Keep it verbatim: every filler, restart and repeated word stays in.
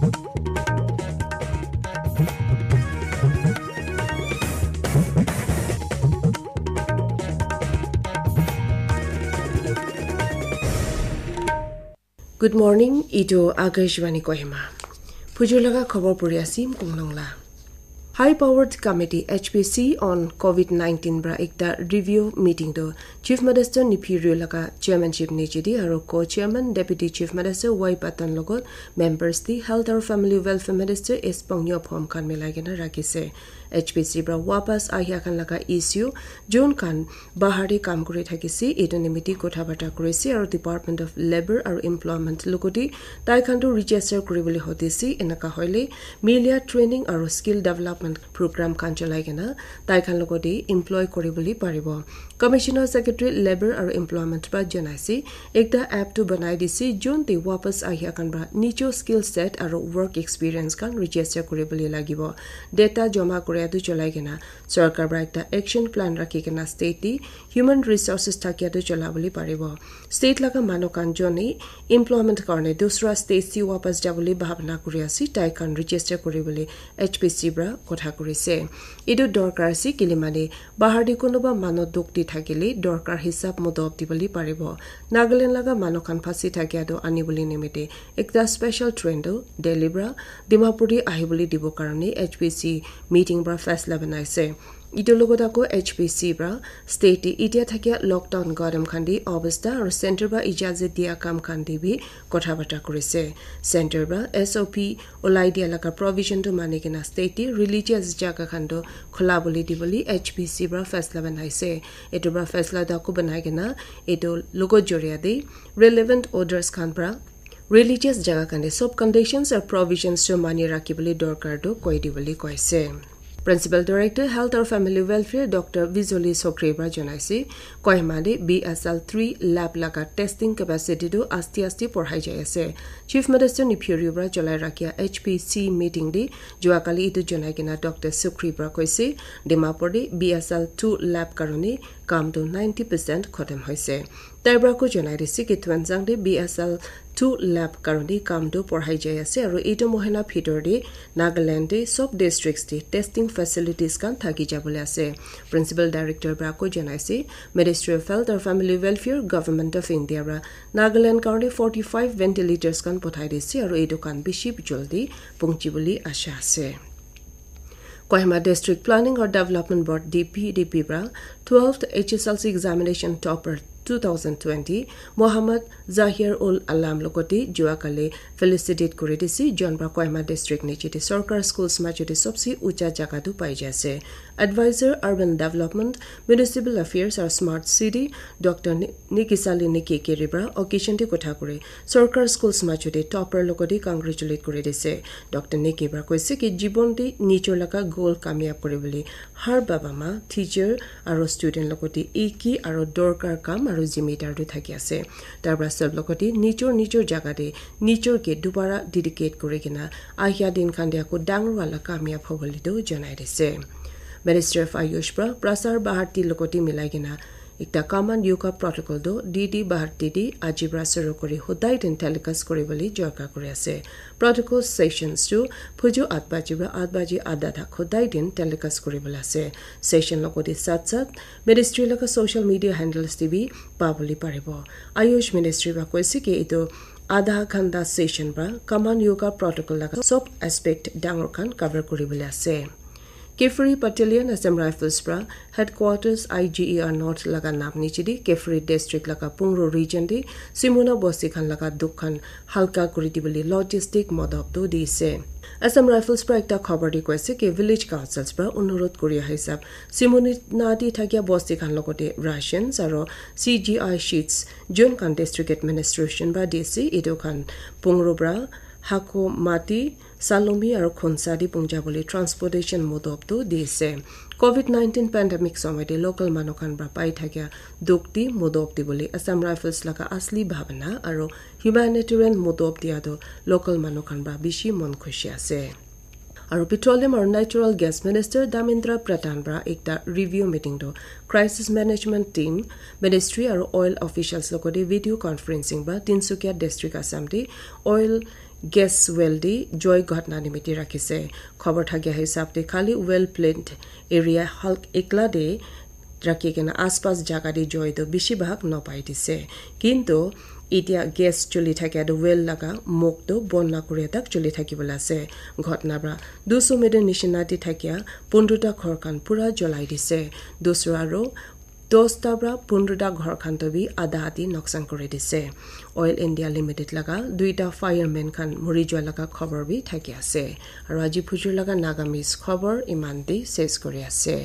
Good morning, itu Akashvani Kohima. Phujur laga khobor puri asim kunglong la. High Powered Committee H P C on COVID nineteen pra ekta review meeting tu Chief Minister Neiphiu Rio laga chairmanship niche di aru co-chairman Deputy Chief Minister Y Patton logot members di Health aru Family Welfare Minister S Pangyo Phom khan milai kena rakhi se. H P C pra wapas ahia khan laga issue jun khan bahar te kam kuri thakise, etu nimite kotha bata kurise aru Department of Labour aru Employment logote tai khan tu register kuribole hotise, enaka hoile media training aru skill development program khan cholai kena tai khan logote employ kuribole paribo. Commissioner Secretary Labour aru Employment pra janaise, ekta app tu banai dise, jun te wapas ahia khan pra nijo skill set aru work experience khan register kuribole lagibo. Data joma kuria tu cholai kena Sarkar pra ekta action plan rakhi kena state te human resources thakia tu chola bole paribo. State laga manu khan jone employment karne dusra state te wapas jabole bhabna kuri ase, tai khan register kuri bole H P C pra kotha kuri se. Etu dorkar ase kile mane bahar te kunuba manu dukh te thakile dorkar hisab mutab dibole paribo. Nagaland laga manu khan phasi thakia tu ani bole nimite ekta special train tu Delhi pra Dimapur te ahibole dibo karone H P C meeting pra faisla banai se. Etu logot ako H P C pra state te itia thakia lockdown garam khan te obostha aru center pra ijazat dia kam khan te bi kotha bata kuri se. Center pra S O P ulai dia laga provision tu mani kena state te religious jaga khan tu khula bole dibole H P C pra faisla banai se. Etu pra faisla tu ako banai kena etu logot joria te relevant orders khan pra religious jaga khan te sob conditions aru provisions tu mani rakhi bole dorkar tu koi dibole koi se. Principal Director Health aru Family Welfare Doctor Vijoli Sokri pra janaise, Kohima te B S L three lab laga testing capacity tu asti asti porhai jai ase. Chief Minister Neiphiu Rio pra cholai rakhia H P C meeting te jua kali etu janai kena Doctor Sokri pra koise, Dimapur te B S L two lab karone kam tu ninety percent khotom hoise. Tai pra ko janai dise ki Tuensang te B S L two lab karone kam tu porhai jai ase aru etu mohina bhitor te Nagaland te sob districts te testing facilities khan thaki jabole ase. Principal Director pra ko janaise, Ministry of Health aru Family Welfare, Government of India pra Nagaland karone forty five ventilators khan pothai dise aru etu khan bishi jaldi pungchi bole asha ase. Kohima District Planning or Development Board, D P D P pra twelfth H S L C examination topper two thousand twenty Mohammad Zahir ul Alam logote jua kali felicitate kuri dise, jon pra Kohima District niche te Sorkar Schools majo te sobse ucha jaga tu pai jai ase. Advisor Urban Development, Municipal Affairs aru Smart City Doctor Ni- Nikisali Nikikiri pra occasion te kotha kuri Sorkar Schools majo te topper logote congratulate kuri dise. Doctor Niki pra koise ki jibon te nijor laga goal kamyab kuri bole har baba ma, teacher aru student logote eki aru dorkar kam aru zimedar tu thaki ase. Tar pra sob logote nijor nijor jaga te nijor ke dubara dedicate kuri kena ahia din khan te ako dangor wala kamyab hobole tu janai dise. Ministry of Ayush pra Prasar Bharati logote milai kena ekta common yoga protocol tu D D Bharati te aji pra shuru kuri hodai din telecast kuri bole jorka kuri ase. Protocol sessions tu phuju at baji pra at baji adha tak hodai din telecast kuri bole ase. Session logote sat sat ministry laga social media handles te bi pa bole paribo. Ayush Ministry pra koise ki etu adha ghanta session pra common yoga protocol laga sob aspect dangor khan cover kuri bole ase. Kiphire Battalion Assam Rifles pra headquarters I G E R North laga nam niche te Kiphire District laga Pungro region te Simuna bosti khan laga dukh khan halka kuri dibole logistic modop tu dise. Assam Rifles pra ekta khobor te koise ki village councils pra onurod kuri hisab Simuna te thakia bosti khan logote rations aru C G I sheets jon khan district administration pra dise, etu khan Pungro pra Hako Mati Salomi aru Khonsa te pungja bole transportation modop tu dise. Covid nineteen pandemic somoy te local manu khan pra pai thakia dukh te modop dibole Assam Rifles laga asli bhabana aru humanitarian modop dia tu local manu khan pra bishi mon khushi ase. Aru Petroleum aru Natural Gas Minister Dharmendra Pradhan pra ekta review meeting tu Crisis Management Team, Ministry aru oil officials logote video conferencing pra Tinsukia District Assam te oil gas well te joi ghotna nimite rakhise. Khobor thakia hisab te khali well plant area halk ekla te rakhi kena aspas jaga te joi toh bishi bhag nopai dise. Kintu etia gas chuli thakia toh well laga mok toh bon na kuria tak chuli thaki bola ase. Ghotna pra dusomede nishina te thakia pundro ta ghor khan pura jolai dise. Dusra aro dosta pra pundro ta ghor khan toh bi adha adi noksan kuri dise. Oil India Limited laga duita fireman khan muri jua laga khobor bi thaki ase. Aro aji phujur laga Nagamese khobor iman te ses kuri ase.